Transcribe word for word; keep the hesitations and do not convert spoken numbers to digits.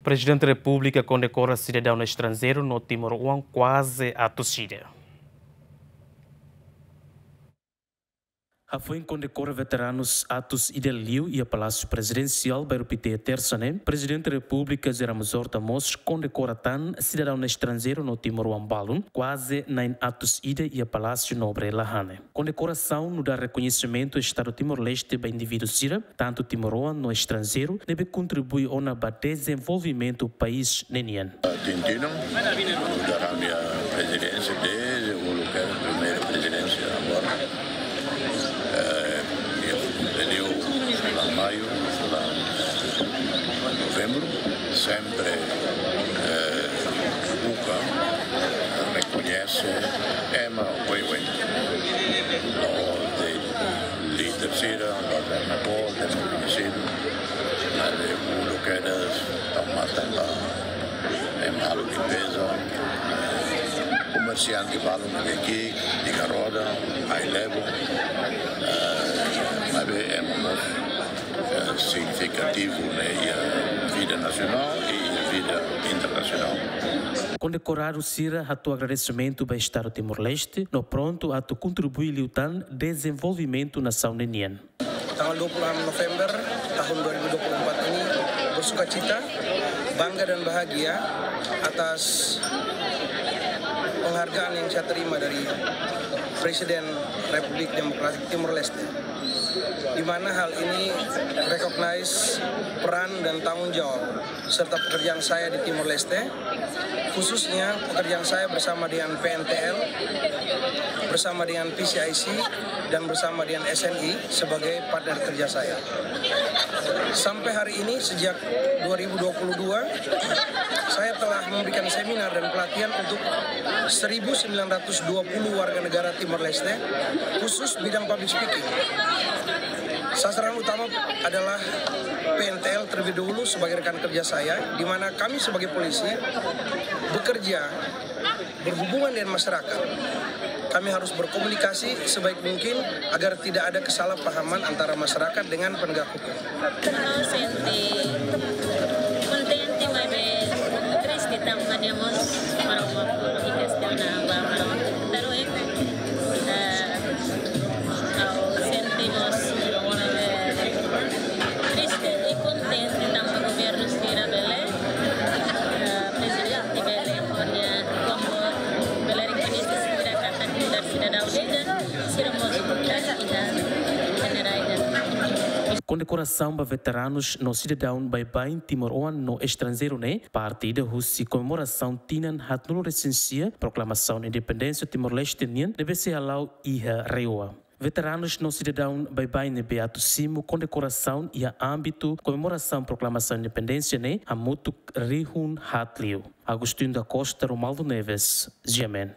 Prezidente Repúblika kondekora sidadaun estranjeiru no timoroan kuaze atus ida. Hafoin kondekora veteranus atus ida liu iha Palásiu Prezidensiál Bairru Pité, Tersa ne'e, Prezidente Repúblika José Ramos Horta mós kondekora tan sidadaun estranjeiru no timoroan balun, kuaze na'in atus ida iha Palásiu Nobre Lahane. Kondekorasaun nu'udar rekoñesimentu Estadu Timor-Leste ba indivíduu sira, tantu timoroan no estranjeiru, ne'ebé kontribui ona ba dezenvolvimentu país ne'e nian. Tintinan, nu'udar ami-nia prezidénsia, dezde uluk primeiru prezidénsia agora. Eh, iha liu fulan Maiu, fulan Novembru, sempre, eh, buka, eh, rekoñese ema oioin. La'ós de'it líder sira, la'ós de'it ema boot, de'it ema koñesidu, maibé uluk kedas tau matan ba ema halo limpeza, eh, komersiante balun ne'ebé ki'ik, tiga roda, ai-lebo, eh, maibé ema mós, eh, signifikativu ne'e iha vida nasionál i iha vida internasionál. Kondekoradu sira hato'o agradesimentu ba Estadu Timor-Leste no prontu atu kontribui liután dezenvolvimentu nasaun ne'e nian. Tanggal dua puluh enam November tahun dua ribu dua puluh empat ini bersukacita, bangga dan bahagia atas penghargaan yang saya terima dari Presiden Republik Demokratik Timor-Leste, di mana hal ini recognize peran dan tanggung jawab serta pekerjaan saya di Timor-Leste, khususnya pekerjaan saya bersama dengan P N T L, bersama dengan P C I C, dan bersama dengan S N I sebagai partner kerja saya. Sampai hari ini, sejak dua ribu dua puluh dua, saya telah memberikan seminar dan pelatihan untuk seribu sembilan ratus dua puluh warga negara Timor-Leste, khusus bidang public speaking. Sasaran utama adalah P N T L terlebih dahulu sebagai rekan kerja saya, di mana kami sebagai polisi bekerja berhubungan dengan masyarakat. Kami harus berkomunikasi sebaik mungkin agar tidak ada kesalahpahaman antara masyarakat dengan penegak hukum. Ha'u sente kontente, maibé triste tanba nia mós Maromak ikas tiha ona ba Maromak. Taruh, eh, ha'u sente mós, eh, triste i kontente tanba governu sira bele, eh, prezidente bele, ho nia kombo bele rekoñese sira katak nu'udar sidadaun ida, sira mós nu'udar ida, jenerál ida. Kondekorasaun ba veteranus no sidadaun baibain timoroan no estranjeiru ne'e parte ida husi komemorasaun tinan haatnulu-resin-sia proklamasaun independénsia Timor-Leste nian ne'ebé sei hala'o iha RAEOA. Veteranus no sidadaun baibain ne'ebé atu simu kondekorasaun iha ámbitu komemorasaun proklamasaun independénsia ne'e hamutuk rihun haat liu. Agostinho da Costa, Romualdo Neves, G M N.